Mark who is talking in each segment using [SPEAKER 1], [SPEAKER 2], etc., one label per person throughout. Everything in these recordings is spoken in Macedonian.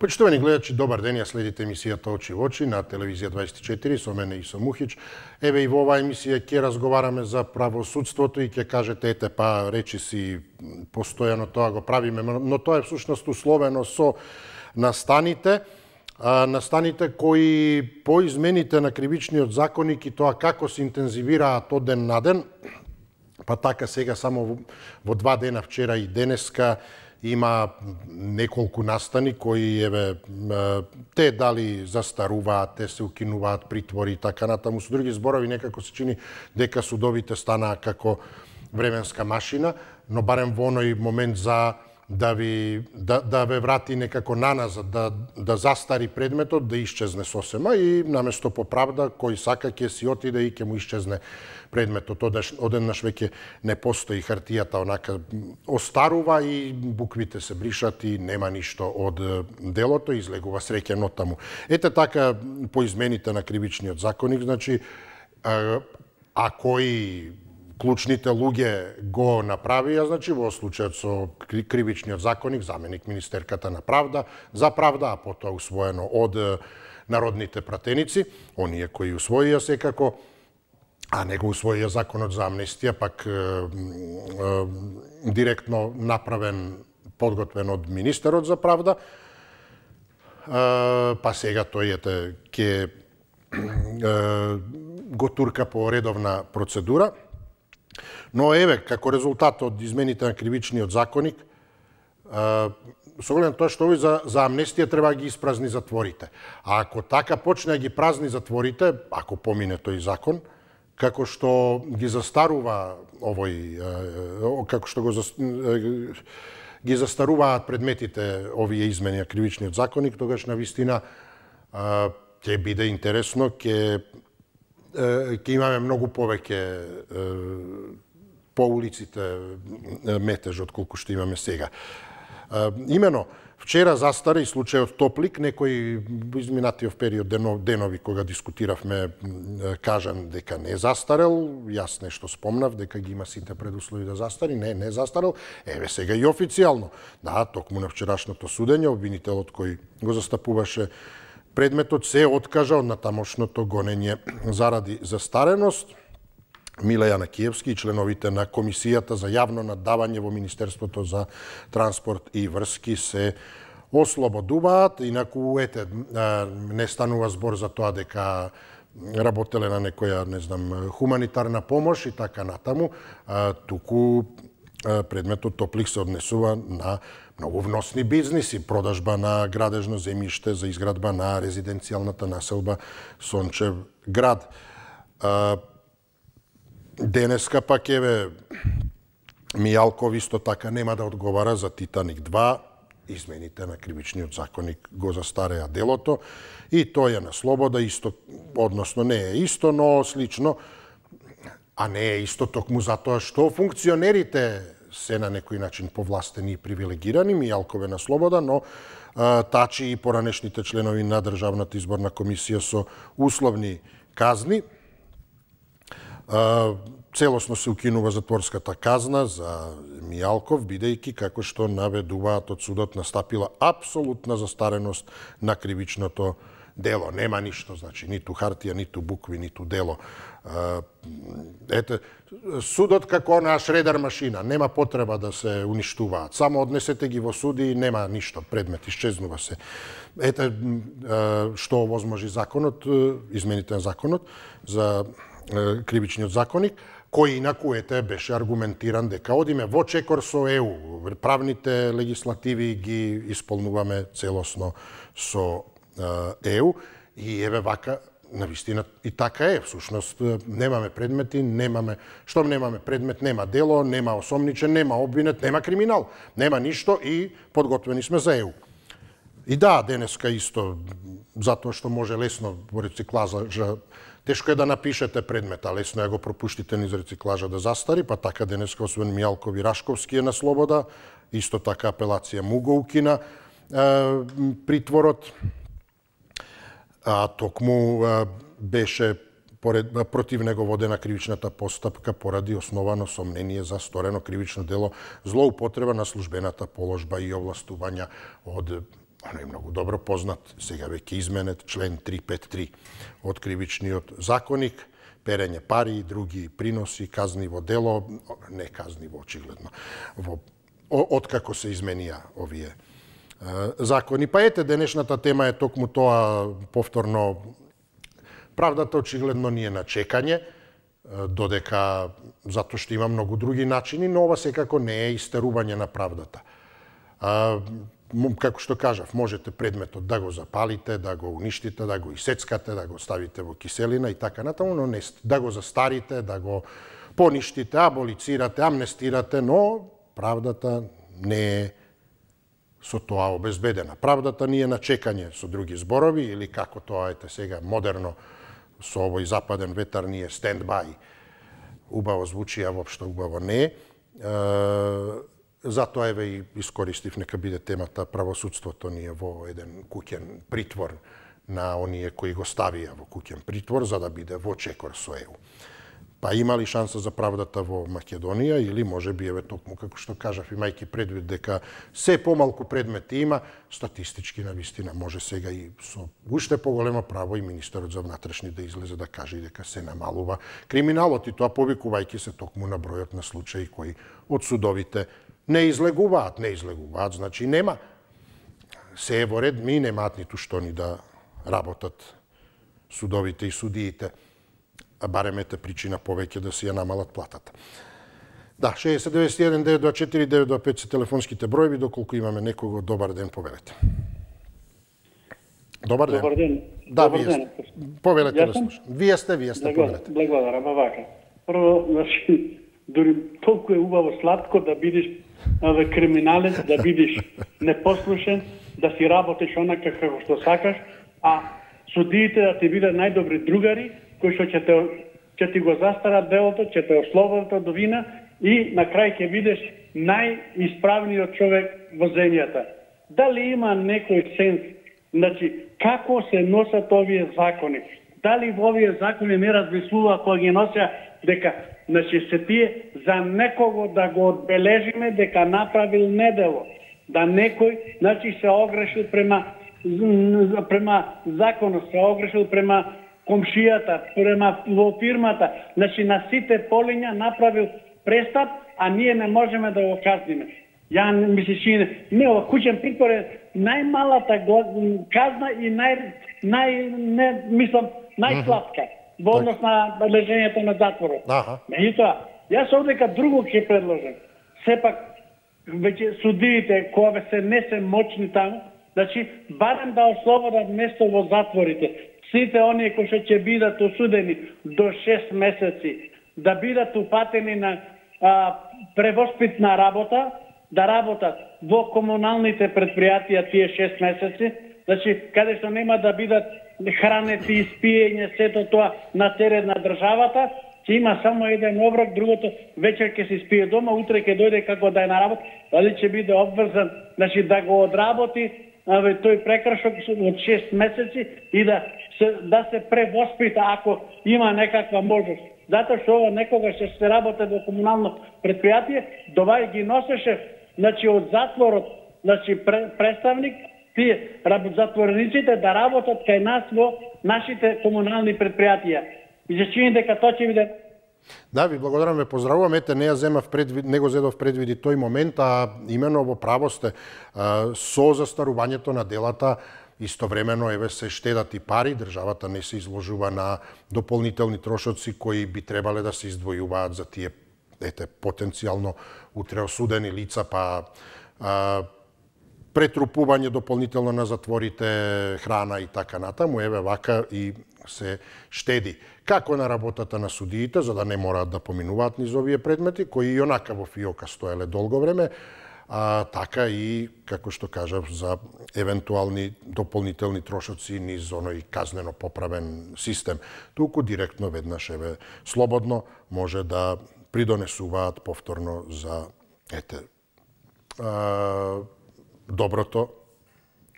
[SPEAKER 1] Почитувани гледачи, добар ден, ја следите емисијата Очи во очи на телевизија 24 со мене Исо Мухич. Еве и во оваа емисија ќе разговараме за правосудството и ќе кажете ете па речи си постојано тоа го правиме, но тоа е всушност условено со настаните кои по измените на кривичниот законник и тоа како се интензивираат од ден на ден, па така сега само во 2 дена, вчера и денеска, има неколку настани кои те дали застаруваат, те се укинуваат притвори и така натаму. Со други зборови некако се чини дека судовите станаа како временска машина, но барем во оној момент за да ве врати некако наназад, да застари предметот, да исчезне сосема и наместо по правда кој сака ќе си отиде и ќе му исчезне предметот. Одеднаш веќе не постои хартијата, онака остарува и буквите се бришат и нема ништо од делото, излегува среќено таму. Ете така по измените на кривичниот законник, значи а кои клучните луѓе го направија, значи во случајот со кривичниот законник, заменик министерката на правда, за правда, а потоа усвоено од народните пратеници, оние кои усвоија секако, а не го усвоија законот за амнестија, пак директно направен, подготвен од министерот за правда, па сега тој ќе го турка по редовна процедура. Но еве, како резултат од измените на кривичниот законник, со оглед на тоа што овој за амнестија треба да ги испразни затворите. А ако така почне да ги празни затворите, ако помине тој закон, како што ги застарува како што ги застаруваат предметите овие измени на кривичниот законник, тогаш навистина ќе биде интересно, ќе имаме многу повеќе по улиците метеж отколку што имаме сега. Имено, вчера застара и случајот Топлик, некои во изминатиот период денови кога дискутиравме, кажан дека не застарел, јас нешто спомнав дека ги има сите предуслови да застари, не застарел, еве сега и официјално. Да, токму на вчерашното судење, обвинителот кој го застапуваше предметот се откажа од натамошното гонење заради застареност. Миле Јанакиевски и членовите на Комисијата за јавно наддавање во Министерството за транспорт и врски се ослободуваат. Инаку, не станува збор за тоа дека работеле на некоја, не знам, хуманитарна помош и така натаму, туку предметот Топлик се однесува на многу вносни бизниси, продажба на градежно земјиште за изградба на резиденцијалната населба Сончев град. Денеска пак еве Мијалков исто така нема да одговара за Титаник 2, измените на кривичниот законник го застареа делото и тој е на слобода, исто, односно не е исто, но слично, а не е исто токму затоа што функционерите се на некој начин повластени и привилегирани, Мијалков е на слобода, но Тачи и поранешните членови на Државната изборна комисија со условни казни. Целосно се укинува затворската казна за Мијалков, бидејќи, како што наведуваат од судот, настапила апсолутна застареност на кривичното дело. Нема ништо, значи, ниту хартија, ниту букви, ниту дело. Судот како на шредер машина, нема потреба да се уништуваат. Само однесете ги во суди и нема ништо, предмет исчезнува се. Што овозможи законот, измените на законот за кривичниот законник, кој инаку беше аргументиран дека одиме во чекор со ЕУ. Правните легислативи ги исполнуваме целосно со ЕУ и еве вака, навистина и така е. Всушност немаме предмети, штом немаме предмет, нема дело, нема осомничен, нема обвинет, нема криминал, нема ништо и подготвени сме за ЕУ. И да, денеска исто, затоа што може лесно во рециклажа, тешко е да напишете предмета, лесно е го пропуштите низ рециклажа да застари, па така денеска освен Мијалков и Рашковски е на слобода, исто така апелација му го укина притворот, а токму беше против него водена кривичната постапка поради основано сомнение за сторено кривично дело злоупотреба на службената положба и овластувања од оној многу добро познат, сега веќе изменет, член 353 од Кривичниот законник, перење пари и други приноси, казниво дело, не казниво очигледно, откако се изменија овие закони. Па ете, денешната тема е токму тоа, повторно, правдата очигледно ни е на чекање, додека затоа што има многу други начини, но ова секако не е истерување на правдата. Како што кажав, можете предметот да го запалите, да го уништите, да го исецкате, да го ставите во киселина и така натаму, но не да го застарите, да го поништите, аболицирате, амнестирате, но правдата не е со тоа обезбедена. Правдата ни е на чекање, со други зборови, или како тоа ете сега модерно со овој западен ветар ни е stand-by. Убаво звучи, а воопшто убаво не е. Затоа еве и искористив нека биде темата правосудството ни е во еден куќен притвор на оние кои го ставија во куќен притвор за да биде во чекор со ЕУ. Па има ли шанса за правдата во Македонија или можеби еве токму како што кажав имајќи предвид дека се помалку предмети има, статистички навистина може сега и со уште поголемо право и министерот за внатрешни да излезе да каже дека се намалува криминалот и тоа повикувајќи се токму на бројот на случаи кои од судовите не излегуваат, значи нема. Се е во ред, ми немаат ниту што ни да работат судовите и судиите, а барем ете причина повеќе да си ја намалат платата. Да, 6091 924 925 се телефонските броеви, доколку имаме некого, добар ден, повелете. Добар ден.
[SPEAKER 2] Добар ден.
[SPEAKER 1] Да, вие сте. Повелете да слушам. Вие сте, повелете.
[SPEAKER 2] Благодарам, вака. Прво, значи, дури толку е убаво сладко да бидеш криминалец, да бидеш непослушен, да си работиш онака како што сакаш, а судиите да ти бидат најдобри другари, кои што ќе ти го застарат делото, ќе те ослободат од вина и на крај ќе бидеш најисправниот човек во земјата. Дали има некој сенс, значи, како се носат овие закони? Дали во овие закони не размислува кога ги носеа дека значи се тие за некого да го одбележиме дека направил недело, да некој значи се огрешил према законот, се огрешил према комшијата, према во фирмата, значи на сите полиња направил престап, а ние не можеме да го казниме. Ја ми се чини, не, ова куќен притвор е најмалата казна и најслабка во однос на лежењето на затворот. Меѓутоа, јас овдека друго ќе предложам. Сепак, веќе судиите, кога не се мочни таму, значи, барем да ослободат место во затворите. Сите оние кои што ќе бидат осудени до 6 месеци, да бидат упатени на превоспитна работа, да работат во комуналните предпријатија тие 6 месеци, значи, каде што нема да бидат хранети и спиење, сето тоа на терет на државата, ќе има само еден оброк, другото вечер ќе се спие дома, утре ќе дојде како да е на работа, дали ќе биде обврзан, значи да го одработи тој прекршок од 6 месеци и да се превоспита ако има некаква можност. Затоа што ова некогаш ќе се работи во комунално предпријатие, довај ги носеше значи од затворот, значи представник тие затворениците да работат кај нас во нашите комунални предпријатија. И се чини дека тоа ќе биде.
[SPEAKER 1] Да, ви благодарам, ве поздравувам. Ете, не го зедов предвиди тој момент, а имено во право сте со застарувањето на делата истовремено еве се штедат и пари, државата не се изложува на дополнителни трошоци кои би требале да се издвојуваат за тие потенцијално утре осудени лица, па претрупување дополнително на затворите, храна и така натаму, еве вака и се штеди. Како на работата на судиите, за да не мораат да поминуваат низ овие предмети, кои и онака во фиока стоеле долго време, така и, како што кажав, за евентуални дополнителни трошоци низ оној казнено поправен систем. Туку директно веднаш, еве, слободно може да придонесуваат повторно за, доброто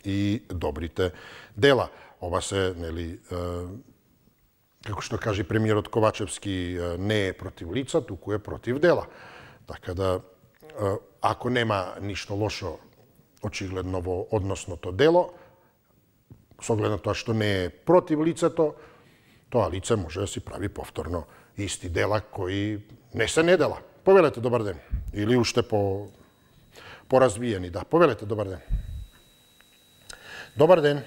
[SPEAKER 1] и добрите дела. Ова се, нели, како што кажи премиерот Ковачевски, не е против лица, туку е против дела. Така да, ако нема ништо лошо очигледно во односното дело, со оглед на тоа што не е против лицето, тоа лице може да си прави повторно исти дела кои не се недела. Повелете, добар ден. Или уште поразвиени, да. Повелете, добар ден. Добар ден.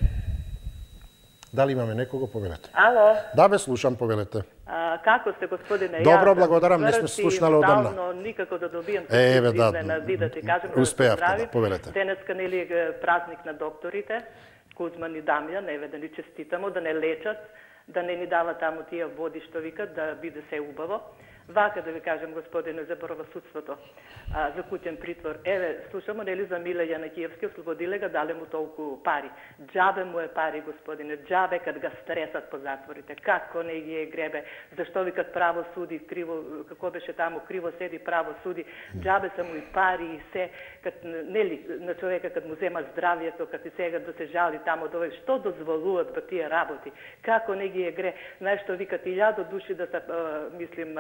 [SPEAKER 1] Дали имаме некого? Повелете.
[SPEAKER 3] Ало.
[SPEAKER 1] Да, бе, слушам, повелете.
[SPEAKER 3] Како сте, господине?
[SPEAKER 1] Добро, благодарам, не сме слушнали одамна.
[SPEAKER 3] Давно никако да добијам
[SPEAKER 1] изненади,
[SPEAKER 3] да ти кажем,
[SPEAKER 1] успеавте, да, повелете.
[SPEAKER 3] Денеска нели празник на докторите, Кузман и Дамјан, еве да ни честитамо, да не лечат, да не ни дават таму тие води што викат, да биде се убаво. Вака да ви кажем, господине, за правосудството, за куќен притвор. Еве, слушамо, нели, за Миле Јанакиевски, ослободиле га, дале му толку пари. Џабе му е пари, господине, џабе кад га стресат по затворите. Како не ги е гребе? Зашто викат право суди, криво, како беше таму, криво седи, право суди. Џабе са му и пари и се, кад, нели, на човека кад му зема здравието, кад и сега да се жали таму, да што дозволуват во тие работи? Како не ги е гре? Знаеш што викат 1000 души да се, мислим,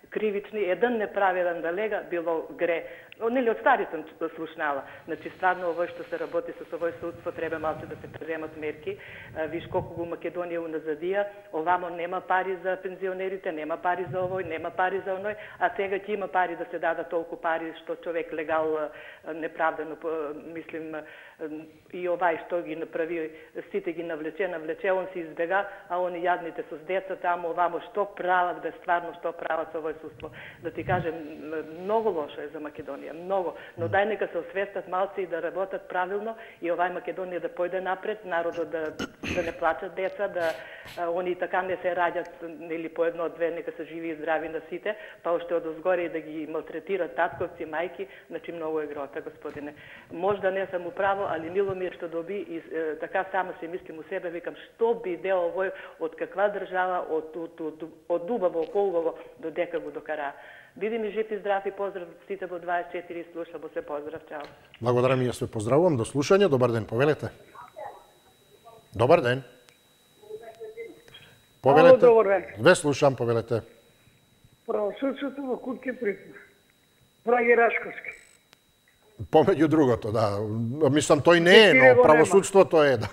[SPEAKER 3] кривични, еден неправеден да лега, било гре. Нели, од стари сум слушнала. Значи, стварно, овој што се работи со овој судство, треба малце да се преземат мерки. Виж колку го Македонија уназадија, овамо нема пари за пензионерите, нема пари за овој, нема пари за оној, а сега ќе има пари да се дадат толку пари што човек легал неправдено, мислим, и овај што ги направи, сите ги навлече, он се избега, а они јадните со деца таму, овамо што прават, бе стварно што прават со овој судство. Да ти кажем, многу лошо е за Македонија, многу, но дај нека се освестат малци и да работат правилно и овај Македонија да појде напред, народот да не плачат деца, да они така не се раѓат, или по едно, две, нека се живи и здрави на сите, па уште од озгоре и да ги малтретират татковци, мајки, значи многу е грота, господине. Можда не сам управо, али мило ми е што доби и така само се мислим у себе, викам што би дел овој, од каква држава, од убаво, по-убаво, до дека го докара. Биди ми жив и здрав и поздрав сите во 24 и слушамо се, поздрав, чао.
[SPEAKER 1] Благодарам и јас ве поздравувам, до слушање, добар ден, повелете. Добар ден. Повелете.
[SPEAKER 4] Ало, добар ден.
[SPEAKER 1] Ве слушам, повелете.
[SPEAKER 4] Правосудството во куќен притвор. Драги Рашковски.
[SPEAKER 1] Помеѓу другото, да. Мислам, тој не е, но правосудството е, да.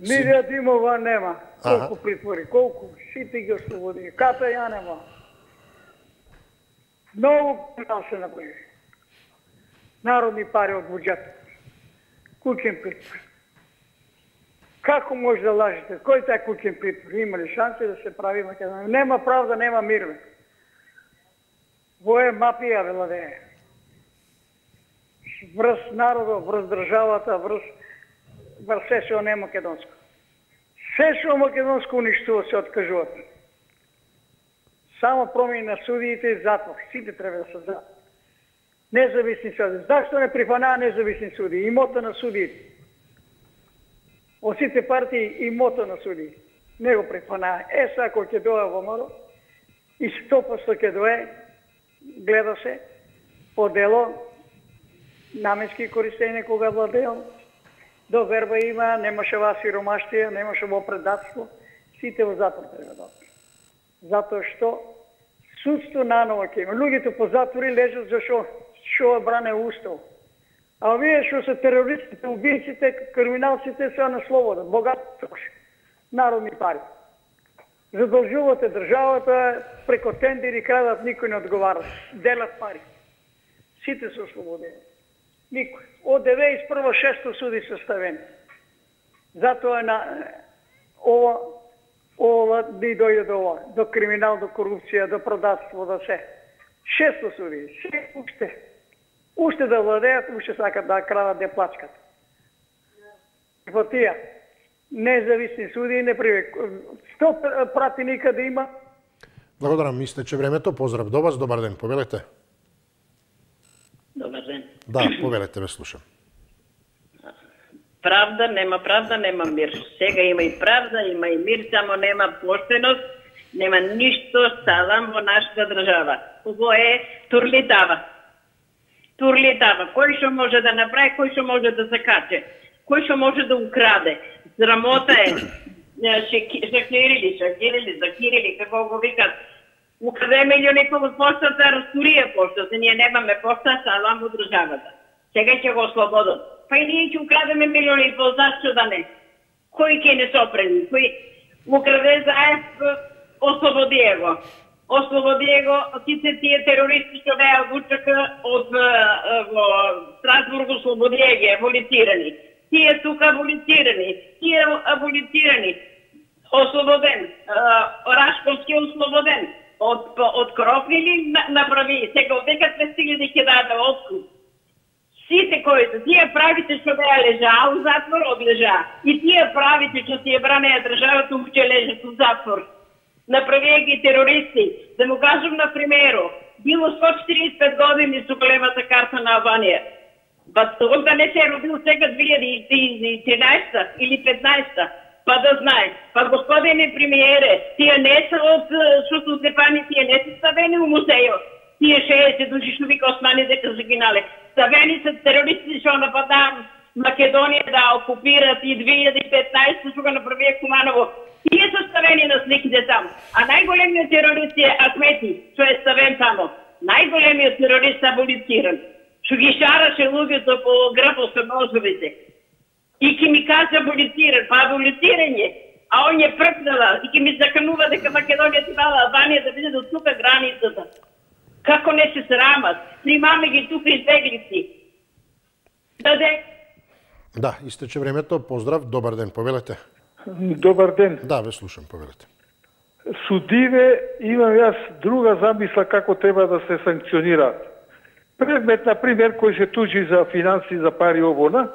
[SPEAKER 4] Милија Димова нема. Колку притвори, колку сите ги ослободи. Ката ја нема. Многу криминал се направи. Народни пари од буџет. Куќен притвор. Како може да лажете? Кој тај куќен притвор? Има ли шанси да се прави Македонија? Нема правда, нема мир. Во е мафија владее. Врз народот, врз државата, врз се што не македонско. Се што македонско уништува, се откажуваат. Само промени на судиите и затвор. Сите треба да се затвор. Независни суди. Зашто не прифанаа независни суди? Имота на судиите. Од сите партии имота на суди. Не го прифанаа. Са, ако ќе дое во моро, и 100% ќе дое, гледа се, по дело, наменски користење кога владеел, до верба има, немаше ова сиромаштија, немаше во предатство, сите во затвор треба да. Затоа што судство наново ќе има. Луѓето по затвори лежат зашо што бране устав. А овие што се терористите, убийците, криминалците се на слобода, богат троши, народни пари. Задолжувате државата, преко тендери крадат, никој не одговара. Делат пари. Сите се ослободени. Никој. Од 91 600 суди се ставени. Затоа на ова би дојде до ова, до криминал, до корупција, до продавство, до се. 600 суди, се уште да владеат, уште сакат да крадат, да плачкат. Во тие независни суди не привек. 100 пратеника да има.
[SPEAKER 1] Благодарам, истече времето. Поздрав до вас, добар ден, повелете.
[SPEAKER 5] Добар ден.
[SPEAKER 1] Да, повелете, ве слушам.
[SPEAKER 5] Правда, нема мир. Сега има и правда, има и мир, само нема поштеност, нема ништо салам во нашата држава. Ово е турлитава. Турлитава. Кој што може да направи, кој што може да закаче, кој што може да украде. Срамота е. Шакирили, како го викат. Украде милиони по поштата, растурија поштата. Ние немаме пошта, салам во државата. Сега ќе го ослободат. па и ние ќе украдеме милиони и пол, зашто да не? Кој ќе не сопрени? Кој украде заедно, ослободи го. Ослободи го од сите тие терористи што беа од УЧК, од Страсбург, ослободи ги, аболицирани. Тие тука аболицирани, тие аболицирани. Ослободен, Рашковски ослободен. Од Кропили направи, сега од дека 200.000 ќе даде откуп. Сите кои се, тие правите што беа лежаа у затвор, одлежаа. И тие правите што си ја бранеа државата, уште лежат у затвор. Направија ги терористи. Да му кажам на примеру, било 145 години со големата карта на Албанија. Па он да не се родил сега 2013 или 15, па да знае. Па господине премиере, тие не се од Сусу Стефани, тие не се ставени у музејот. Тие 60 души што вика Османи дека загинале. Ставени се терористи што нападаа Македонија да окупираат и 2015 што го направија Куманово. Тие се ставени на сликите таму. А најголемиот терорист е Ахмети, што е ставен таму. Најголемиот терорист аболициран. Што ги шараше луѓето по грбот со ножовите. И ки ми кажа аболициран, па аболицирање. А он е пркнала и ки ми заканува дека Македонија требала Албанија да биде до тука границата. Како не се срамат? Примаме ги тука избеглици.
[SPEAKER 1] Да, истече времето. Поздрав, добар ден, повелете.
[SPEAKER 6] Добар ден.
[SPEAKER 1] Да, ве слушам, повелете.
[SPEAKER 6] Судиве, имам јас друга замисла како треба да се санкционираат. Предмет, например, кој се тужи за финанси, за пари овона,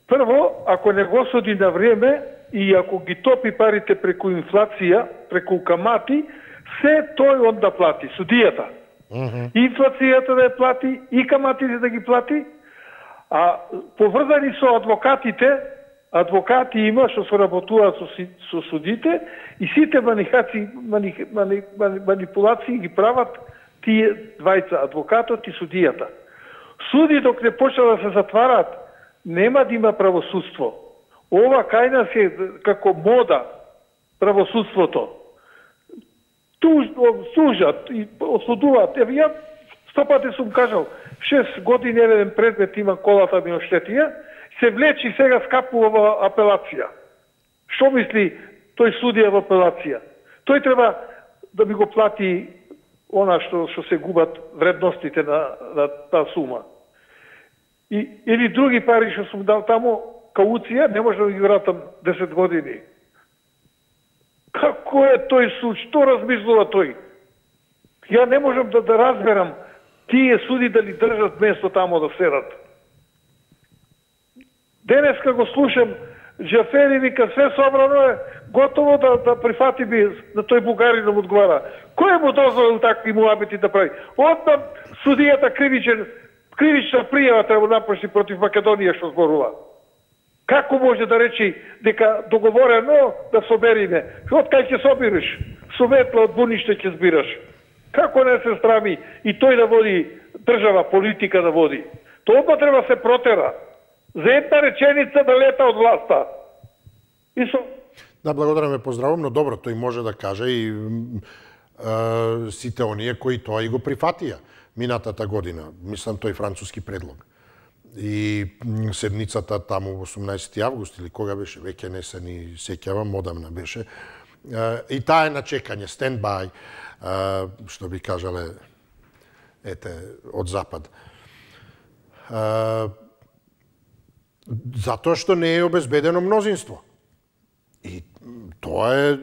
[SPEAKER 6] прво, ако не го суди на време и ако ги топи парите преку инфлација, преку камати, се тој он да плати, судијата. Инфлацијата да ја плати и каматите да ги плати, а поврзани со адвокатите, адвокати има што соработуваат со судите и сите манипулации ги прават тие двајца, адвокатот и судијата. Суди док не почна да се затварат, нема да има правосудство. Ова кај нас е како мода правосудството. Сужат и осудуваат. Еве ја 100 пати сум кажал, 6 години еден предмет има колата ми оштетија, се влечи сега скапува апелација. Што мисли тој судија во апелација? Тој треба да ми го плати она што се губат вредностите на таа сума. Или други пари што сум дал таму, кауција, не може да ги вратам 10 години. Како е тој суд? Што размислува тој? Ја не можам да разберам тие суди дали држат место тамо да седат. Денеска го слушам, Джафери вика, све собрано е, готово да прифати би на тој бугарин му одговара. Кој му дозволил такви муабети да прави? Одма судијата кривична пријава треба напиши против Македонија што зборува. Како може да речи дека договорено да собериме? Од кај ќе собираш? Советла од буниште ќе збираш. Како не се срами и тој да води држава, политика да води? Тоа треба се протера. За една реченица да лета од власта.
[SPEAKER 1] Да, благодарам ве, поздравам, но добро, тој може да каже и сите оние кои тоа и го прифатија минатата година. Мислам, тој француски предлог. И седницата таму 18 август или кога беше, веќе не се ни сеќавам, одамна беше. И таа е на чекање, stand-by, што би кажале, од Запад. Затоа што не е обезбедено мнозинство. И тоа е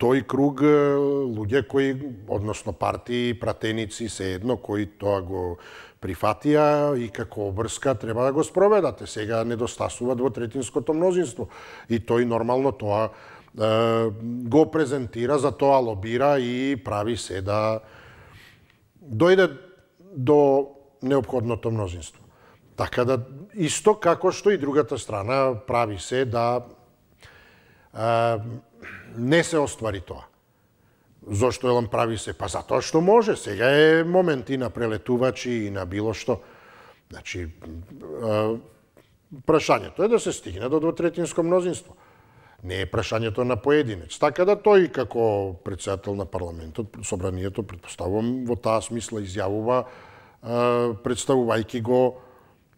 [SPEAKER 1] тој круг луѓе кои, односно партии, пратеници, се едно, кои тоа го прифатија и како обврска треба да го спроведате. Сега недостасува двотретинското мнозинство. И тој нормално тоа го презентира, за тоа лобира и прави се да дојде до неопходното мнозинство. Така да, исто како што и другата страна прави се да не се оствари тоа. Зошто елам прави се? Па затоа што може. Сега е момент и на прелетувачи и на било што. Значи, прашањето е да се стигне до двотретинско мнозинство. Не е прашањето на поединец. Така да тој како председател на парламентот, собранието, предпоставувам, во таа смисла изјавува, представувајќи го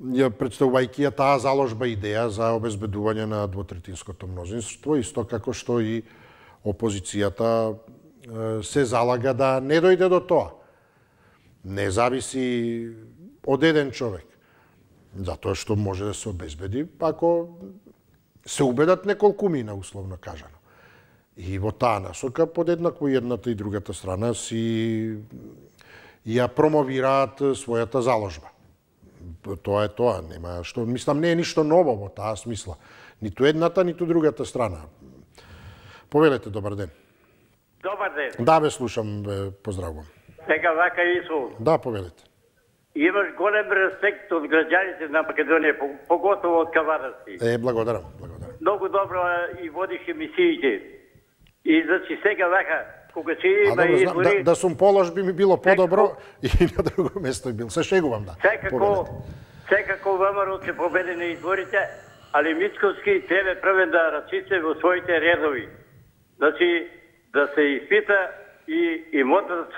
[SPEAKER 1] представувајќи ја таа заложба идеја за обезбедување на двотретинското мнозинство, исто како што и опозицијата се залага да не дојде до тоа. Не зависи од еден човек. Затоа што може да се обезбеди ако се убедат неколкумина, условно кажано. И во таа насока подеднакво едната и другата страна си ја промовираат својата заложба. Тоа е тоа, нема што, мислам, не е ништо ново во таа смисла. Ниту едната, ниту другата страна. Повелете, добар ден.
[SPEAKER 7] Добар ден.
[SPEAKER 1] Да, бе, слушам, поздравувам.
[SPEAKER 7] Сега вака Исус.
[SPEAKER 1] Да, повелете.
[SPEAKER 7] Имаш голем респект од граѓаните на Македонија, поготово од кавадарци.
[SPEAKER 1] Благодарам.
[SPEAKER 7] Многу добро и водиш емисиите. И значи сега вака, кога ќе има избори...
[SPEAKER 1] Да сум полош би ми било подобро и на друго место бил. Се шегувам, да.
[SPEAKER 7] Секако ВМРО ќе победи на изборите, али Мицковски тебе првен да рачице во своите редови. Значи, да се испита и имотот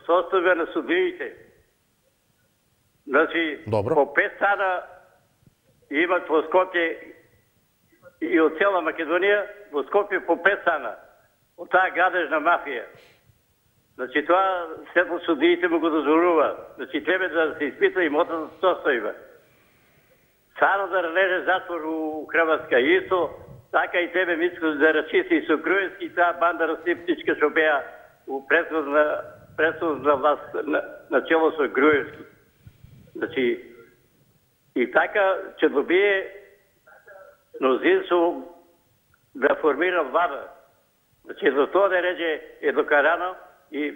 [SPEAKER 7] состојба на судиите. Значи, по 5 стана имат во Скопје и од цела Македонија, во Скопје по 5 стана. Од таа гадежна мафија. Значи, тоа сето судиите му го дозволува. Значи, треба да се испита имотот состојба. Санодар леже затвор у Хрватска исто, така и тебе Мицко да рачиси и со Груевски, таа банда расиптичка што беа у предходна власт на чело со Груевски. Значи, и така ќе добие мнозинство да формира влада. Значи, за тоа да реже е докарано и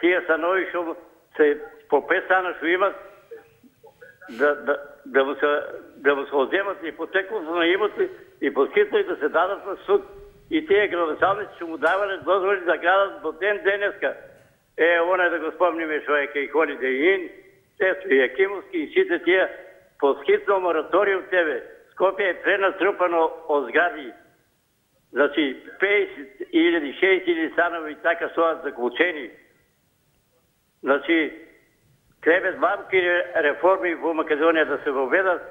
[SPEAKER 7] тие станови што се по 5 стана што имат да му се одземат ипотекото на имоти и поскитно и да се дадат на суд. И тие градоначалници што му давале дозволи да градат до ден денеска. Оне да го спомниме што е кај Хони Дејин, Тесто и Јакимовски и сите тие поскитно мораториум тебе. Скопје е пренатрупано од згради. Значи, 50.000, 6.000 станови така стоат заклучени. Значи, треба малки реформи во Македонија да се воведат,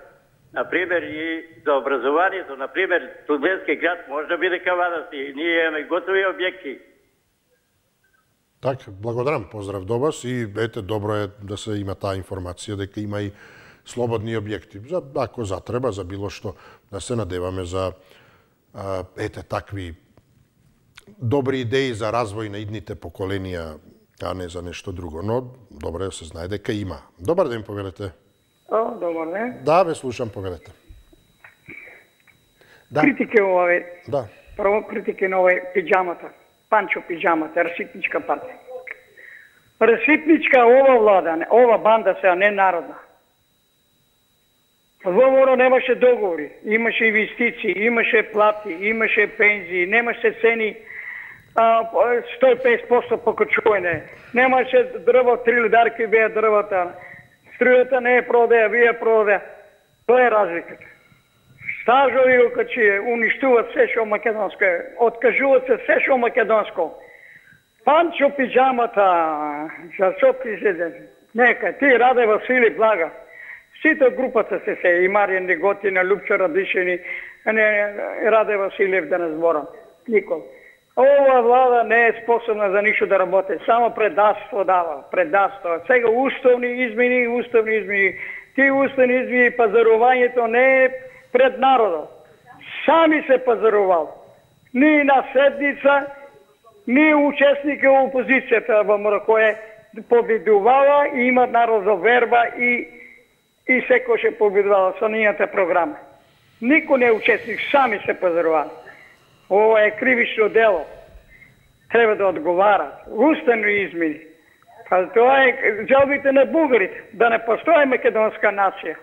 [SPEAKER 7] например, и за образованието. Например, студентски град може да биде кавадарци. Ние имаме готови објекти.
[SPEAKER 1] Така, благодарам, поздрав до вас и ете, добро е да се има таа информација дека има и слободни објекти. Ако затреба, за било што, да се надеваме за такви добри идеи за развој на идните поколенија, а не за нешто друго. Но добро е да се знае дека има. Добар ден, повелете.
[SPEAKER 4] Добар ден.
[SPEAKER 1] Да, ве слушам, повелете.
[SPEAKER 4] Критике овој.
[SPEAKER 1] Да.
[SPEAKER 4] Прво критике на овој пиджамата. Панчо пиджамата, раситничка партија. Раситничка ова влада, ова банда сега не народна. ВМРО немаше договори, имаше инвестиции, имаше плати, имаше пензии, немаше цени 150% покачување. Немаше дрво, 3 лидарки беа дрвата. Струјата не е продеја, вие продеја. Тоа е разликата. Стажови окачи уништуват се што македонско е, откажуват се се што македонско. Панчо пиджамата, за што президент? Нека, ти Раде Васили Блага. Сите групата се и Маријан Неготина, Лупчо Радишини, Раде Василев да не зборам. Никол. Ова влада не е способна за ништо да работи. Само предавство дава. Предавство. Сега уставни измени. Ти уставни измени, пазарувањето не е пред народот. Сами се пазарувал. Ни на седница, ни учесник во опозицијата ВМРО кој победувала и има народна верба и секој ше победувала со нијата програма. Никој не е учесник, сами се пазарували. Ова е кривично дело. Треба да одговарат. Уставни измени. Тоа е жалбите на бугарите, да не постои македонска нација.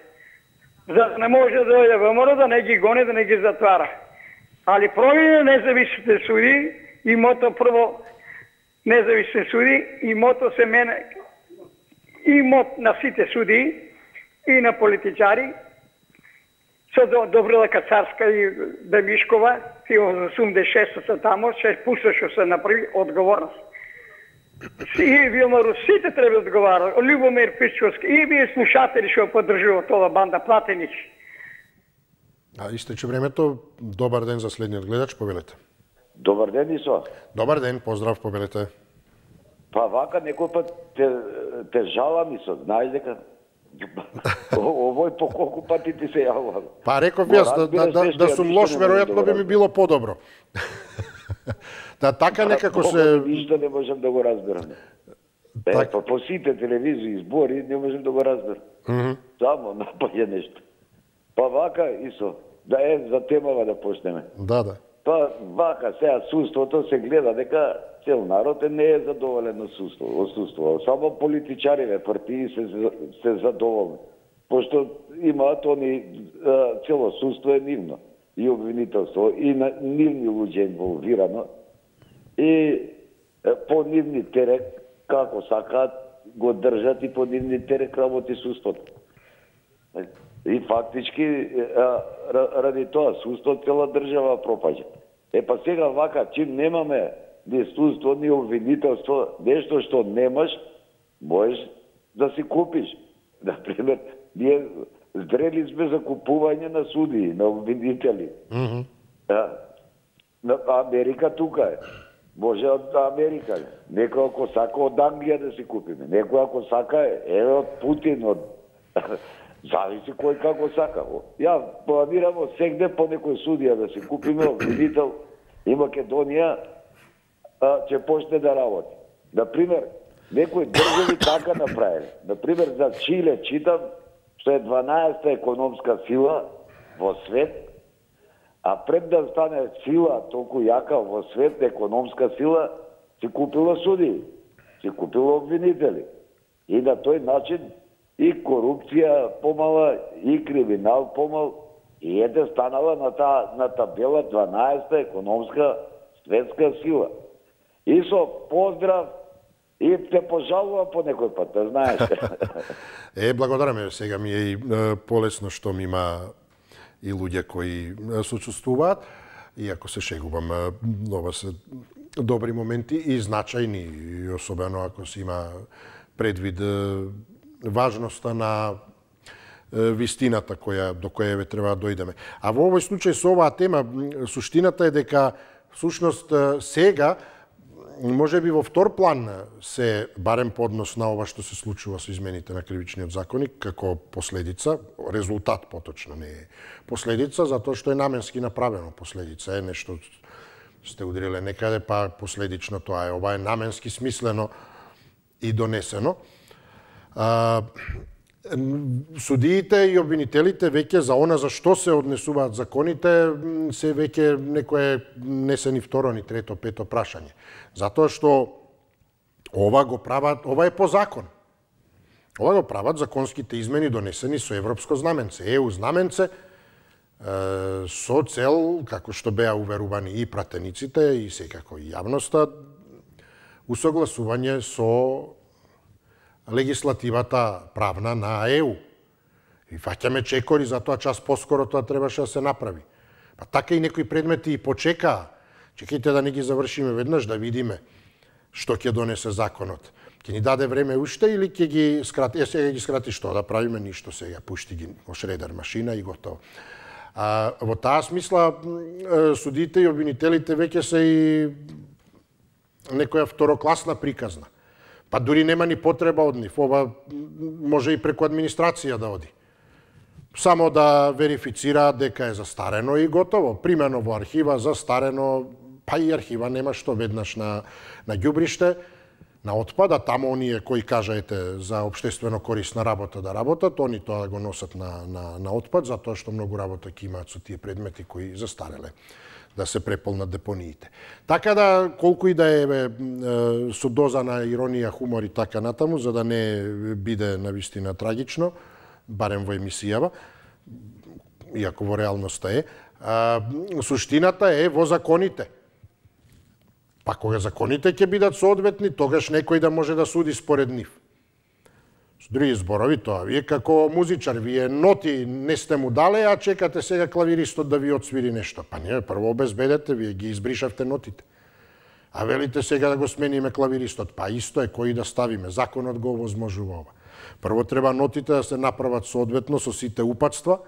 [SPEAKER 4] За да не може да дојде ВМРО, да не ги гони, да не ги затвара. Али промени независните суди, имото прво независни суди, имото се мене, имот на сите суди и на политичари, со Добрила Кацарска и Демишкова, и 86-та тамо, се пуста што се направи одговорност. И Вилмару сите треба да одговарат. Љубомир Пичковски и вие слушатели што поддржуват ова банда платеници.
[SPEAKER 1] А истече времето. Добар ден за следниот гледач, повелете.
[SPEAKER 8] Добар ден, Исо.
[SPEAKER 1] Добар ден, поздрав, повелете.
[SPEAKER 8] Па вака некој пат те жалам, Исо, знаеш дека овој по колку пати ти се јавувам.
[SPEAKER 1] Па реков јас да сум лош, веројатно би ми било подобро. Да, така некако се...
[SPEAKER 8] Ништо не можам да го разберам. По сите телевизии, збори, не можам да го разберам. Само напаѓа нешто. Па вака, Исо, да за темава да почнеме.
[SPEAKER 1] Да.
[SPEAKER 8] Па вака, сега судството се гледа дека цел народ не е задоволен од судство. Само политичариве, партии се задоволни. Пошто имаат они, цело судство е нивно. И обвинителство, и на нивни луѓе инволвирано. И по нивни терек, како сакаат, го држат и по нивни терек работи судството. И фактички, ради тоа судство, цела држава пропаѓа. Па сега вака, чим немаме ни судство, ни обвинителство, нешто што немаш, можеш да си купиш. Например, ние зрели сме за купување на судии, на обвинители. Америка тука е. Може од Америка. Некој ако сака од Англија да си купиме. Некој ако сака е од Путин, од... Зависи кој како сака. Ја планирам од сегде по некој судија да си купиме обвинител и Македонија ќе почне да работи. Например, некои држави така направили. Например, за Чиле читам што е 12-та економска сила во свет, а пред да стане сила толку јака во свет, економска сила, си купила судии, си купила обвинители. И на тој начин и корупција помала, и криминал помал, и станала на табела 12-та економска светска сила. И со поздрав, и те пожалувам по некој пат, да знаеш.
[SPEAKER 1] Благодараме, сега ми е и полесно што ми има и луѓе кои сочувствуваат, иако се шегувам, ова се добри моменти и значајни, и особено ако се има предвид важноста на вистината до која треба да дојдеме. А во овој случај со оваа тема, суштината е дека всушност сега може би во втор план се, барем по однос на ова што се случува со измените на кривичниот законник, како последица, резултат поточно, не е последица, затоа што е наменски направено. Последица е нешто сте удриле некаде, па последично тоа е. Ова е наменски смислено и донесено. Судиите и обвинителите веќе за она за што се однесуваат законите се веќе некое не се ни второ, ни трето, пето прашање. Затоа што ова го прават, ова е по закон. Ова го прават законските измени донесени со европско знаменце, ЕУ знаменце, со цел, како што беа уверувани и пратениците и секако и јавноста, усогласување со легислативата правна на ЕУ. И фаќаме чекори, затоа час поскоро тоа требаше да се направи. Па така и некои предмети и почекаа. Чекајте да не ги завршиме веднаш, да видиме што ќе донесе законот. Ќе ни даде време уште или ќе ги скрати? Сега ги скрати што да правиме? Ништо сега. Пушти ги во шредер машина и готово. Во таа смисла, судиите и обвинителите веќе се и некоја второкласна приказна. Па дури нема ни потреба од нив. Ова може и преку администрација да оди. Само да верифицираат дека е застарено и готово. Примено во архива, застарено, па и архива нема што веднаш на ѓубриште, на отпад, а тамо оние кои кажаете за општествено корисна работа да работат, они тоа го носат на отпад, затоа што многу работа ќе имаат со тие предмети кои застареле да се преполнат депониите. Така да, колку и да е со доза на иронија, хумор и така натаму, за да не биде навистина трагично, барем во емисијава, иако во реалноста е, суштината е во законите. Па кога законите ќе бидат соодветни, тогаш некој да може да суди според нив. Со други зборови, тоа вие како музичар, вие ноти не сте му дале, а чекате сега клавиристот да ви отсвири нешто. Па не, прво обезбедете, вие ги избришавте нотите. А велите сега да го смениме клавиристот. Па исто е, кој да ставиме. Законот го овозможува ова. Прво треба нотите да се направат соодветно со сите упатства,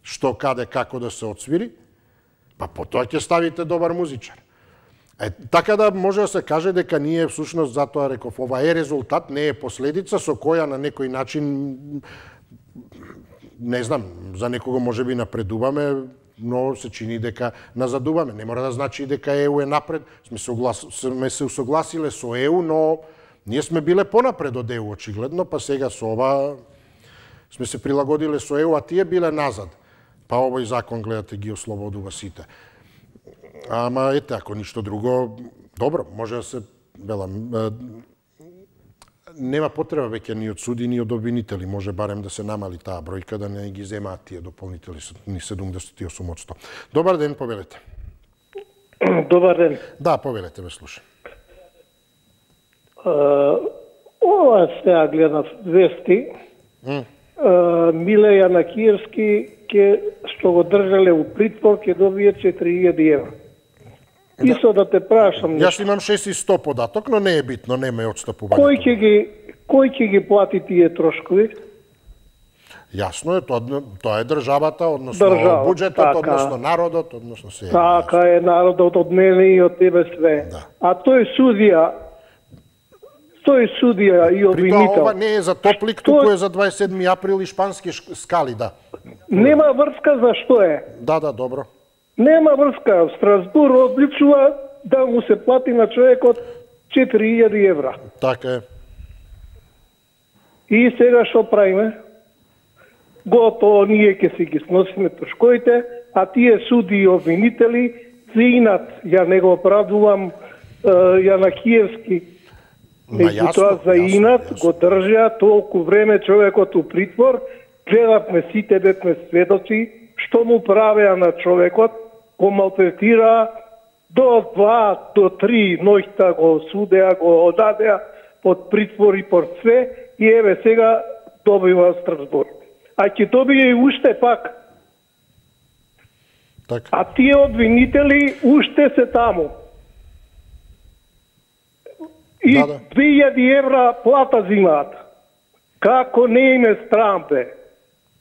[SPEAKER 1] што, каде, како да се отсвири, па потоа ќе ставите добар музичар. Така да може да се каже дека ние всушност, затоа реков, ова е резултат, не е последица со која на некој начин, не знам, за некого може би напредуваме, но се чини дека назадуваме. Не мора да значи дека ЕУ е напред. Сме се усогласиле со ЕУ, но ние сме биле понапред од ЕУ, очигледно, па сега со ова сме се прилагодиле со ЕУ, а тие биле назад. Па овој закон, гледате, ги ослободува сите. Ама, ете, ако ништо друго, добро, може да се, велам, нема потреба веќе ни од суди, ни од обвинители. Може барем да се намали таа бројка, да не ги земаат тие дополнители ни 78%. Добар ден, повелете.
[SPEAKER 6] Добар ден.
[SPEAKER 1] Да, повелете, ве слушам.
[SPEAKER 6] Ова сега гледав вести. Миле Јанакиевски, што го држале у притвор, ќе добие 4000 евра. Исто да те прашам.
[SPEAKER 1] Јас имам 600 податок, но не е битно, нема е отстапување.
[SPEAKER 6] Кој ќе ги плати тие трошкови?
[SPEAKER 1] Јасно е, тоа е државата, односно буџетот, односно народот, односно се.
[SPEAKER 6] Така е, народот од мене и од тебе све. А тој судија и обвинител.
[SPEAKER 1] При тоа ова не е за Топлик, туку е за 27 април и шпански скали, да.
[SPEAKER 6] Нема врска за што е.
[SPEAKER 1] Да, добро.
[SPEAKER 6] Нема врска. Страсбур одличува да му се плати на човекот 4000 евра.
[SPEAKER 1] Така е.
[SPEAKER 6] И сега што правиме? Готово, ние ќе си ги сносиме трошковите, а тие суди и обвинители зинат, ја не го оправдувам Јанакиевски. Меѓутоа за инат го држа толку време човекот у притвор, гледавме сите, бевме сведоци, што му правеа на човекот, го малтретира до 2 до 3 ноќта го судеа, го одадеа под притвор и под све, и еве сега добива Страсбург. А ќе добие и уште пак.
[SPEAKER 1] Так.
[SPEAKER 6] А тие обвинители уште се таму. И 2000 евра плата зимаат. Како не им е страм, бе?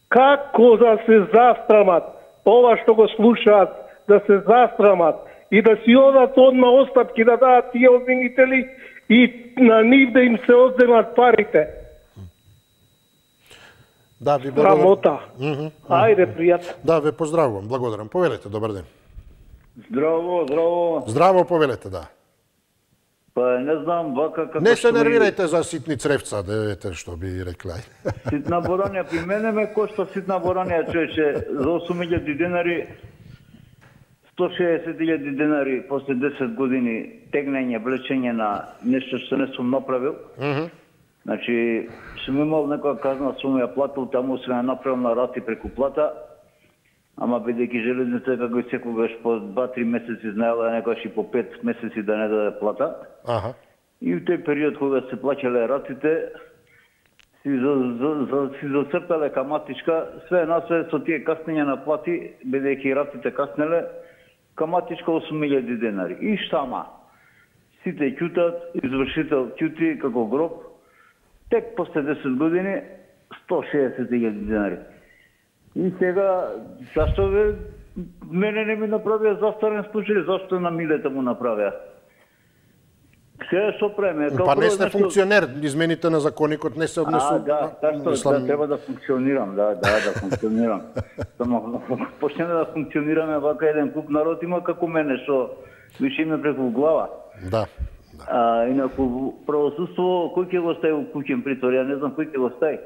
[SPEAKER 6] Како да се застрамат? Ова што го слушаат, да се застрамат и да си одат одма остапки да дадат тие обвинители и на нив да им се одземат парите.
[SPEAKER 1] Да, ви благодарам.
[SPEAKER 6] Рамота. Ајде, пријатно.
[SPEAKER 1] Да, ве поздравувам, благодарам. Повелете, добар ден.
[SPEAKER 9] Здраво.
[SPEAKER 1] Здраво, повелете, да.
[SPEAKER 9] Па не знам, вака како
[SPEAKER 1] не се нервирајте за ситни цревца, да ете што би рекла.
[SPEAKER 9] Ситна боранија, при мене ме кошта ситна боранија, човече, за 8000 денари, 160.000 денари после 10 години тегнење, влечење на нешто што не сум направил. Значи, сум имал некоја казна сума, ја платил, таму се направил на рати преку плата, ама бидејќи железница како и секогаш по 2-3 месеци знаела некојаш и по 5 месеци да не даде плата. И в тој период кога се плаќале ратите, си зацртале каматичка, све насве со тие каснења на плати, бидејќи ратите каснеле, каматичка 8000 денари. И штама. Сите ќутат, извршител ќути како гроб, тек после 10 години 160.000 денари. И сега, зашто мене не ми направија застарен случај, зашто на Милета му направија? Сега што преме?
[SPEAKER 1] Па не сте функционер, измените на законикот не се однесува.
[SPEAKER 9] Да, треба да функционирам, да функционирам. Само почнеме да функционираме, вака еден куп народ има како мене, што више име преку глава.
[SPEAKER 1] Да.
[SPEAKER 9] Инаку правосудство, кој ќе го стави у куќен притвор? Ја не знам кој ќе го стави.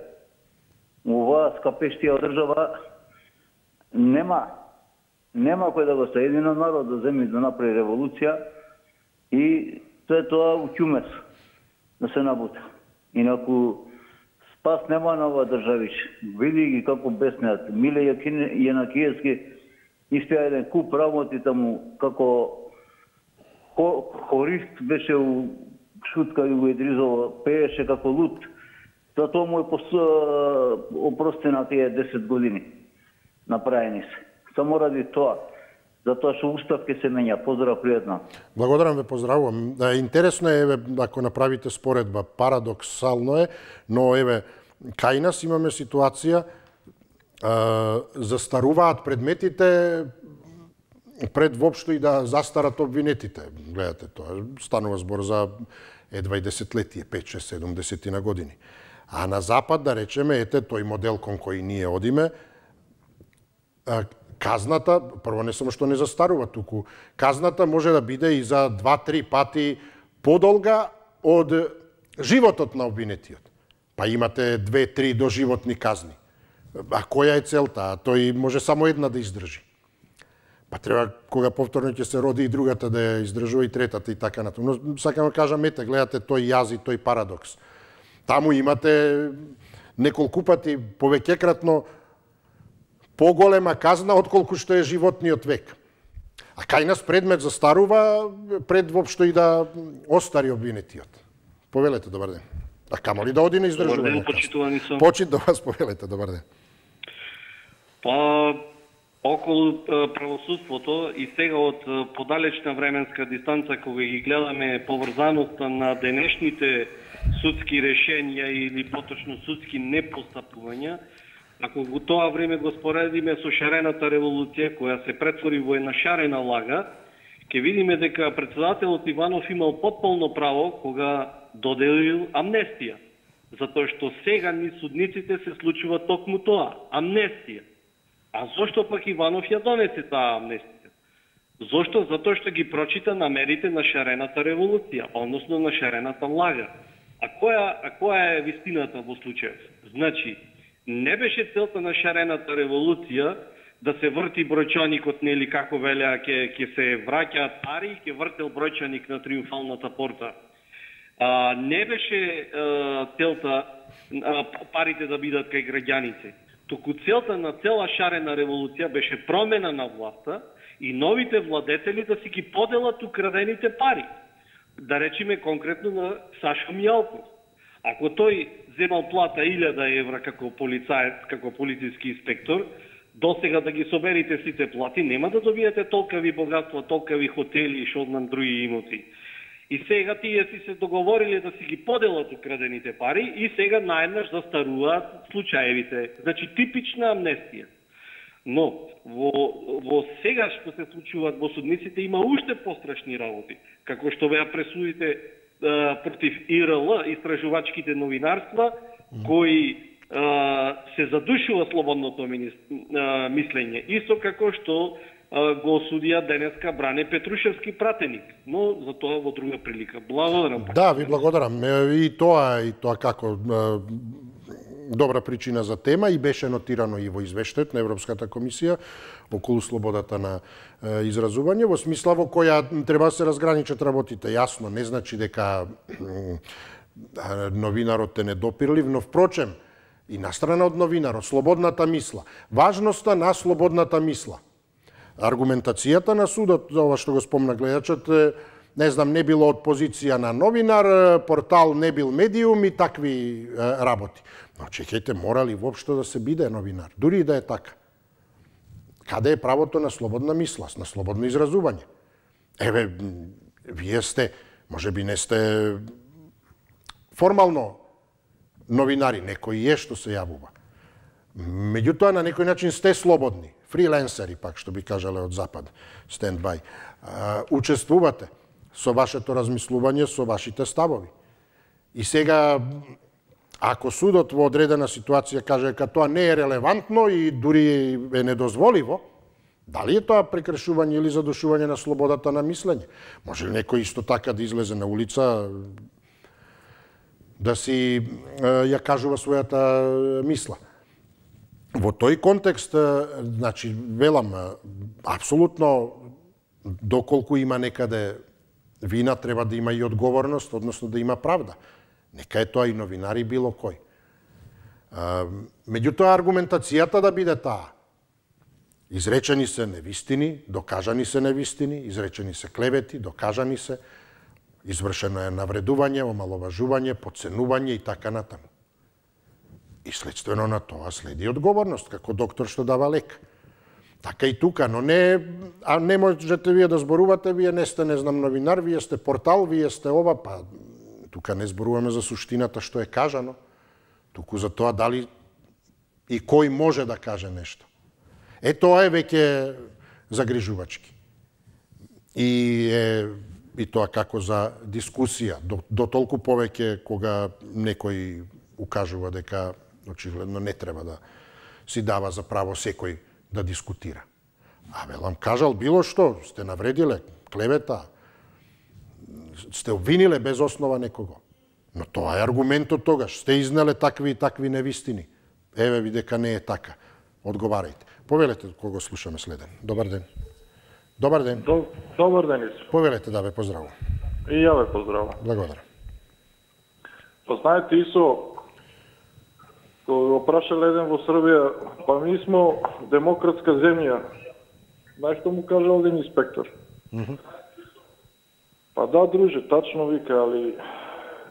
[SPEAKER 9] Ова скапештија држава нема кој да го стави. Едино народ да земе да направи револуција и све тоа у ќумес да се набута. Инаку спас нема на ова државич. Види ги како беснеат. Миле Јанакиевски испеа еден куп работи таму, како хорист беше у Шутка и у Едризово, пееше како лут. Затоа му е опростена тие 10 години направени се. Само ради тоа. затоа што устав ќе се менја. Поздрав, пријатно.
[SPEAKER 1] Благодарам ве, поздравувам. Интересно е, еве, ако направите споредба, парадоксално е, но еве, кај нас имаме ситуација, застаруваат предметите пред воопшто и да застарат обвинетите. Гледате, тоа станува збор за едва и десетлетие, 5, 6, 7, 10 години. А на запад, да речеме, ете тој модел кон кој ние одиме, казната, прво не само што не застарува туку, казната може да биде и за 2-3 пати подолга од животот на обвинетиот. Па имате 2-3 доживотни казни. А која е целта? Тој може само една да издржи. Па треба, кога повторно ќе се роди и другата да ја издржува и третата и така натаму. Но сакам да кажам, ете, гледате тој јаз и тој парадокс. Таму имате неколку пати повеќекратно поголема казна отколку што е животниот век. А кај нас предмет застарува пред воопшто и да остари обвинетиот. Повелете, добар ден. А камо ли да оди на издржување?
[SPEAKER 10] Добар ден, почитувани сум.
[SPEAKER 1] Почит до вас, повелете, добар ден.
[SPEAKER 10] Па, околу правосудството и сега од подалечна временска дистанца, кога ги гледаме поврзаноста на денешните судски решенија или поточно судски непостапувања, ако го тоа време го споредиме со шарената револуција, која се претвори во една шарена лага, ќе видиме дека председателот Иванов имал потполно право кога доделил амнестија. Затоа што сега ни судниците се случува токму тоа, амнестија. А зошто пак Иванов ја донесе таа амнестија? Зошто? Затоа што ги прочита намерите на шарената револуција, односно на шарената лага. А која е вистината во случајот? Значи, не беше целта на шарената револуција да се врти бројчаникот, нели како велеа, ќе се враќаат пари и ќе вртел бројчаник на Триумфалната порта. Не беше целта парите да бидат кај граѓаните. Току целта на цела шарена револуција беше промена на власта и новите владетели да си ги поделат украдените пари. Да речеме конкретно на Сашо Мијалков. Ако тој земал плата 1000 евра како полицаец, како полициски инспектор, досега да ги соберите сите плати, нема да добиете толкави богатства, толкави хотели и шоднам други имоти. И сега тие си се договорили да си ги поделат украдените пари и сега наеднаш застаруваат случаевите. Значи типична амнестија. Но во сега што се случуваат во судниците има уште пострашни работи. Како што беа пресудите против ИРЛ, истражувачките новинарства, кои се задушува слободното мислење. Исто како што го осудија денеска Бране Петрушевски пратеник, но за тоа во друга прилика. Благодарам.
[SPEAKER 1] Да, ви благодарам. И тоа како добра причина за тема и беше нотирано и во извештајот на Европската комисија околу слободата на изразување, во смисла во која треба да се разграничат работите. Јасно, не значи дека новинарот е недопирлив, но впрочем, и настрана од новинарот, слободната мисла. Важноста на слободната мисла. Аргументацијата на судот, ова што го спомна гледачот, не знам, не било од позиција на новинар, портал не бил медиум и такви работи. Но чекајте, мора ли воопшто да се биде новинар? Дури и да е така. Каде е правото на слободна мисла, на слободно изразување? Еве, вие сте, може би не сте формално новинари, некој е што се јавува. Меѓутоа, на некој начин сте слободни. Фриленсери, пак, што би кажале од Запад, стендбај. Учествувате со вашето размислување, со вашите ставови. И сега, ако судот во одредена ситуација каже дека тоа не е релевантно и дури е недозволиво, дали е тоа прекршување или задушување на слободата на мислење? Може ли некој исто така да излезе на улица, да си ја кажува својата мисла? Во тој контекст, значи, велам, апсолутно, доколку има некаде вина, треба да има и одговорност, односно да има правда. Нека е тоа и новинари било кој. Меѓутоа, аргументацијата да биде таа. Изречени се невистини, докажани се невистини, изречени се клевети, докажани се, извршено е навредување, омаловажување, подценување и така натаму. И следствено на тоа следи одговорност, како доктор што дава лек. Така и тука, но не можете вие да зборувате, вие не сте, не знам, новинар, вие сте портал, вие сте ова, па тука не зборуваме за суштината што е кажано, туку за тоа дали и кој може да каже нешто. Тоа е веќе загрижувачки. И тоа како за дискусија, до толку повеќе кога некој укажува дека очигледно не треба да си дава за право секој да дискутира. Велам кажал било што, сте навредиле, клевета, сте обвиниле без основа некого. Но тоа е аргументот тогаш. Сте изнеле такви и такви невистини. Еве ви дека не е така. Одговарајте. Повелете кого слушаме следен. Добар ден. Добар ден.
[SPEAKER 6] Добар ден.
[SPEAKER 1] Повелете да ве поздравувам.
[SPEAKER 6] И ја ве поздравувам.
[SPEAKER 1] Благодарам.
[SPEAKER 6] Познаете, Исо, кога го прашале еден во Србија, па ми смо демократска земја. Знаеш што му кажал еден инспектор? Па да, друже, тачно вика, али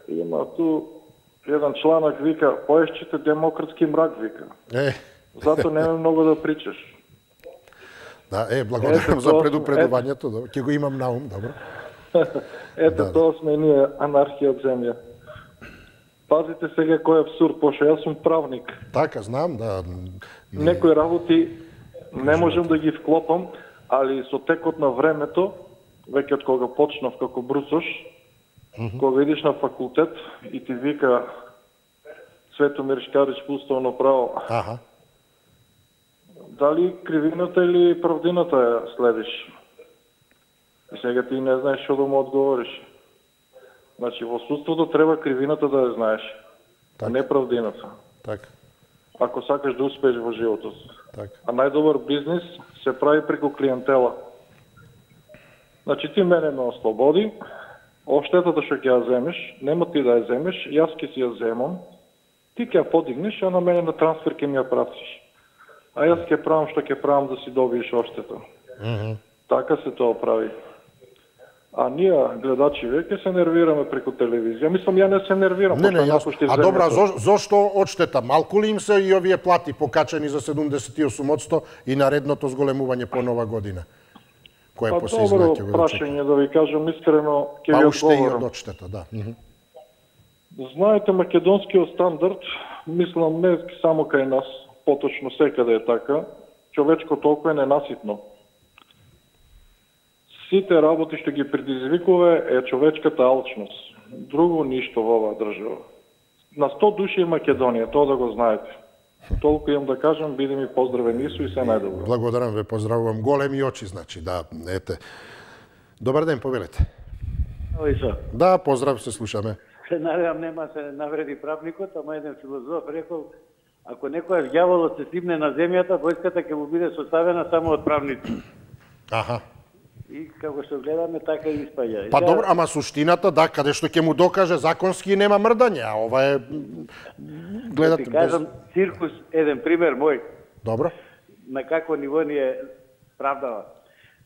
[SPEAKER 6] има ту еден чланак вика, поешчите демократски мрак вика. Зато нема многу да причаш.
[SPEAKER 1] Да, благодарам за предупредувањето, ќе го имам на ум, добро.
[SPEAKER 6] Ето тоа сме ние, анархија од земја. Пазите сега кој е абсурд, пошто јас сум правник.
[SPEAKER 1] Така, знам, да.
[SPEAKER 6] Некои работи не можам да ги вклопам, али со текот на времето, веќе од кога почнав како брусош, кога идиш на факултет и ти вика Светомир Шкарич по уставно право, дали кривината или правдината ја следиш? И сега ти не знаеш што да му одговориш. Значи, во судството треба кривината да ја знаеш, а не правдината.
[SPEAKER 1] Така.
[SPEAKER 6] Ако сакаш да успееш во животот.
[SPEAKER 1] Така.
[SPEAKER 6] А најдобар бизнис се прави преку клиентела. Значи, ти мене ме ослободи, оштетата што ќе ја земеш, нема ти да ја земеш, јас ќе си ја земам, ти ќе ја подигнеш, а на мене на трансфер ќе ми ја пратиш. А јас ќе правам што ќе правам да си добиеш оштета. Така се тоа прави. А ние, гледачи, веќе се нервираме преку телевизија. Мислам, ја не се нервирам.
[SPEAKER 1] Не, јасно. А добра, зошто одштета? Малку ли им се и овие плати покачени за 78% и наредното зголемување по нова година? Кое по се
[SPEAKER 6] добро прашање, да ви кажам искрено, ќе ви одговорам.
[SPEAKER 1] Па уште и од одштета, да.
[SPEAKER 6] Знаете, македонскиот стандард, мислам, не само кај нас, поточно секаде е така, човечко толку е ненаситно. Сите работи што ги предизвикува е човечката алчност. Друго ништо во оваа држава. На 100 души е Македонија, тоа да го знаете. Толку имам да кажам, биде ми поздравен Ису и се најдобро.
[SPEAKER 1] Благодарам ве, поздравувам. Големи очи, значи, да, ете. Добар ден, повелете.
[SPEAKER 11] Исо.
[SPEAKER 1] Да, поздрав, се слушаме.
[SPEAKER 11] Се надевам нема се навреди правникот, ама еден филозоф рекол, ако некојаш ѓаволот се сипне на земјата, војската ќе му биде составена само од правници.
[SPEAKER 1] Аха.
[SPEAKER 11] И како што гледаме, така и испаѓа.
[SPEAKER 1] Па добро, ама суштината, да, каде што ќе му докаже законски нема мрдање, а ова е... Гледате...
[SPEAKER 11] Ти кажам, циркус, еден пример мој.
[SPEAKER 1] Добро.
[SPEAKER 11] На какво ниво ни е правдава.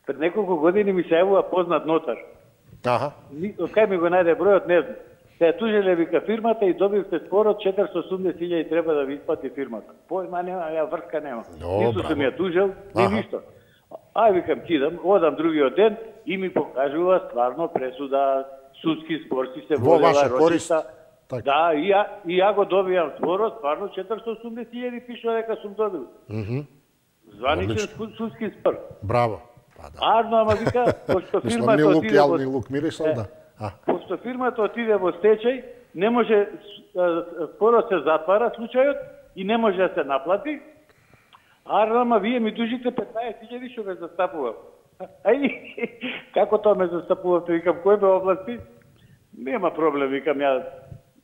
[SPEAKER 11] Пред неколку години ми се јавува познат нотар.
[SPEAKER 1] Аха.
[SPEAKER 11] Од кај ми го најде бројот, не знам. Се ја тужеле вика фирмата и добивте спорот 480.000 треба да ви исплати фирмата. Појма нема, ја врска нема. Нису сум ја тужел, ни ништо. Ај викам кидам, одам другиот ден и ми покажува стварно пресуда, судски спор си се водела рочиста. Да, и ја го добијам спорот, стварно 480.000 пишува дека сум добил. Званичен судски спор.
[SPEAKER 1] Браво.
[SPEAKER 11] Арно, ама вика, пошто фирмата отиде фирмата отиде во стечај, не може, спорот се затвара случајот и не може да се наплати. Ама вие ми дужите 15.000 што ме застапувам. Како тоа ме застапувате? Викам, кој ме области? Нема проблем, викам ја.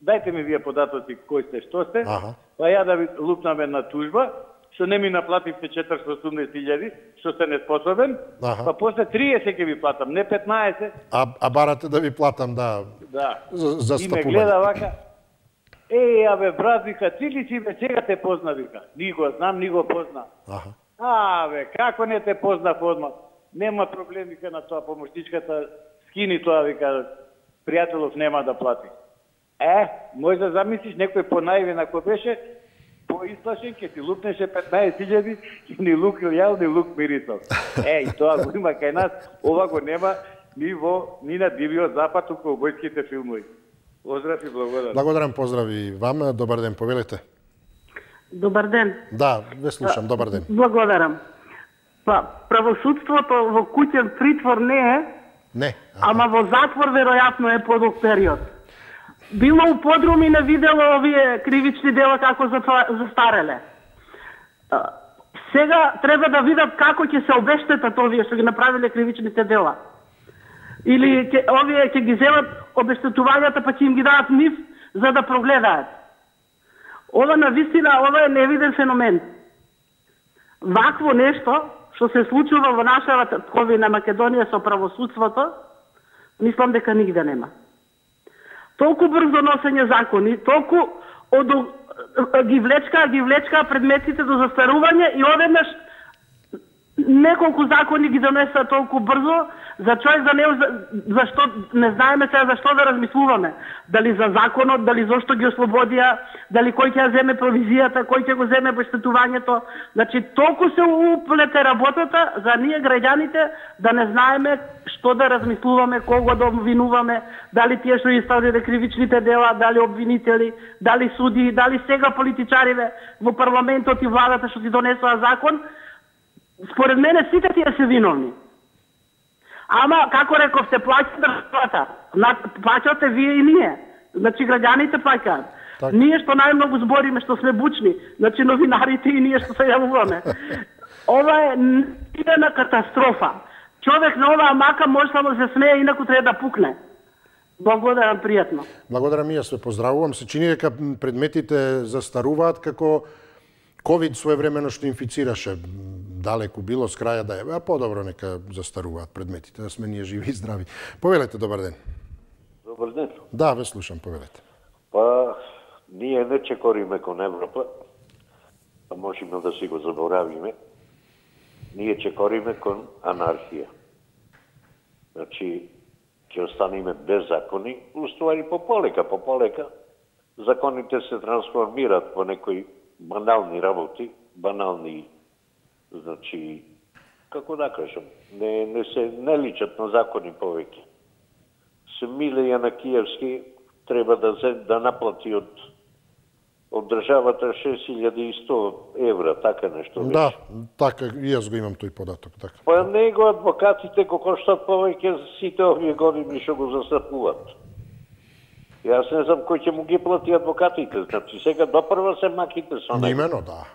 [SPEAKER 11] Дајте ми вие податоци кој сте, што сте, па ја да ви лупнаме на тужба, што не ми наплативте 480.000, што сте неспособен, па после 30 ќе ви платам, не 15.
[SPEAKER 1] А барате да ви платам, да. За
[SPEAKER 11] и ме гледа вака, абе, брат, вика, ти ли си, бе, сега те позна, вика. Ни го знам, ни го позна. Бе, како не те познав одма? Нема проблем, вика, на тоа помошничката, скини тоа, вика, пријателов нема да плати. Може да замислиш, некој понаивен, ако беше, поисплашен, ке ти лукнеше 15.000 и ни лук јал, ни лук мирисал. И тоа го има кај нас, ова го нема ни на Дивиот запад, туку обојските филмови. Поздрав и благодарам.
[SPEAKER 1] Благодарам, поздрав и вам. Добар ден, повелете.
[SPEAKER 12] Добар ден.
[SPEAKER 1] Да, ве слушам, добар ден.
[SPEAKER 12] Благодарам. Па, правосудството во куќен притвор не е,
[SPEAKER 1] не,
[SPEAKER 12] ама во затвор веројатно е подолг период. Било у подруми не видело овие кривични дела како застареле. Сега треба да видат како ќе се обештетат овие што ги направиле кривичните дела. Или овие ќе ги земат обештетувањата па ќе им ги дадат нив за да прогледаат. Ова навистина, ова е невиден феномен. Вакво нешто што се случува во нашата ковина Македонија со правосудството, мислам дека нигде нема. Толку брзо носење закони, толку ги влечка предметите до застарување и одеднаш неколку закони ги донеса толку брзо за човек за него, зашто не знаеме сега зашто да размислуваме. Дали за законот, дали зашто ги ослободија, дали кој ќе земе провизијата, кој ќе го земе обештетувањето. Значи толку се уплете работата за ние граѓаните да не знаеме што да размислуваме, кого да обвинуваме, дали тие што исправиле кривичните дела, дали обвинители, дали суди, дали сега политичариве во парламентот и владата што ти донесоа закон. Според мене сите тие се виновни. Ама, како рековте, плаќа државата. Плаќате вие и ние. Значи, граѓаните плаќаат. Ние што најмногу збориме, што сме бучни, значи новинарите и ние што се јавуваме. Ова е невидена катастрофа. Човек на оваа мака може само да се смее, инаку треба да пукне. Благодарам, пријатно.
[SPEAKER 1] Благодарам и јас ве поздравувам. Се чини дека предметите застаруваат како ковид своевремено што инфицираше, далеку било с краја да е, подобро нека застаруваат предметите, да сме ние живи и здрави. Повелете, добар ден.
[SPEAKER 13] Добар ден.
[SPEAKER 1] Да, ве слушам, повелете.
[SPEAKER 13] Па, ние не чекориме кон Европа, а можеме да си го заборавиме. Ние чекориме кон анархија. Значи, ќе останеме без закони, уствари пополека. Законите се трансформираат по некои банални работи, значи, како да кажам, не личат на закони повеќе. Миле Јанакиевски треба да наплати од државата 6100 евра, така нешто.
[SPEAKER 1] Да, така, и јас го имам тој податок. Така.
[SPEAKER 13] Па него адвокатите го коштат повеќе сите овие години што го застапуваат. Јас не знам кој ќе му ги плати адвокатите, значи сега допрва се маките со него.
[SPEAKER 1] Имено, да.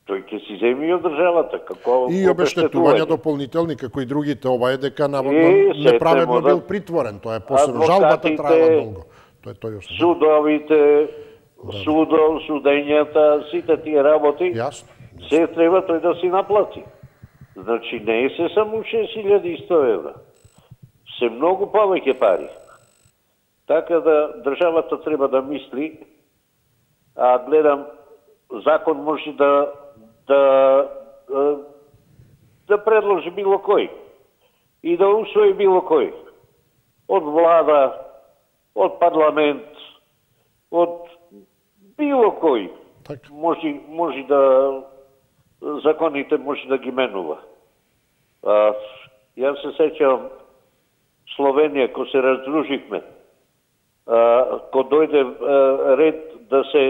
[SPEAKER 13] Тој ќе си земи од државата, како
[SPEAKER 1] и обештетувања дополнителни, како и другите, ова е дека наводно неправедно бил притворен, тоа е посебно, жалбата траела долго.
[SPEAKER 13] Судовите, судењата, сите тие работи, се треба тој да си наплати. Значи не е се само 6100 евра. Се многу повеќе пари. Така да државата треба да мисли, а гледам закон може да предложи било кој и да усвои било кој. Од влада, од парламент, од било кој. Може да законите може да ги менува. Јас се сеќавам Словенија, кога се раздруживме, кога дојде ред да се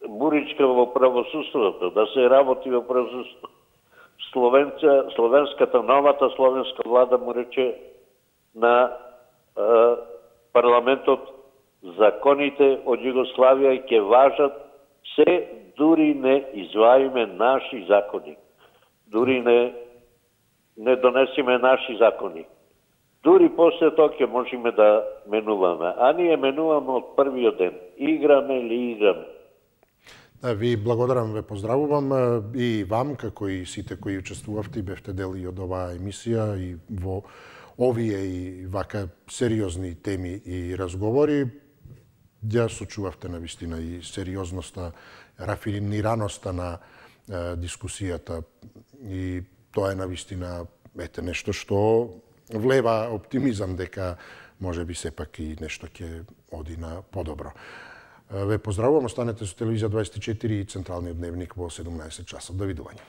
[SPEAKER 13] буричка во правосудството, да се работи во правосудството, новата словенска влада му рече на парламентот законите од Југославија ќе важат се, дури не изваиме наши закони. Дури не донесиме наши закони. Дури после тоа ќе можеме да менуваме. А ние менуваме од првиот ден. Играме или играме.
[SPEAKER 1] Ви благодарам, ве поздравувам и вам, како и сите кои учествувавте и бевте дел и од оваа емисија и во овие и вака сериозни теми и разговори. Ја сочувавте навистина и сериозноста, рафинираноста на дискусијата и тоа е навистина нешто што влева оптимизам дека може би сепак и нешто ќе оди на подобро. Ве поздравувам, останете со Телевизија 24 и Централниот дневник во 17 часот. Довидување.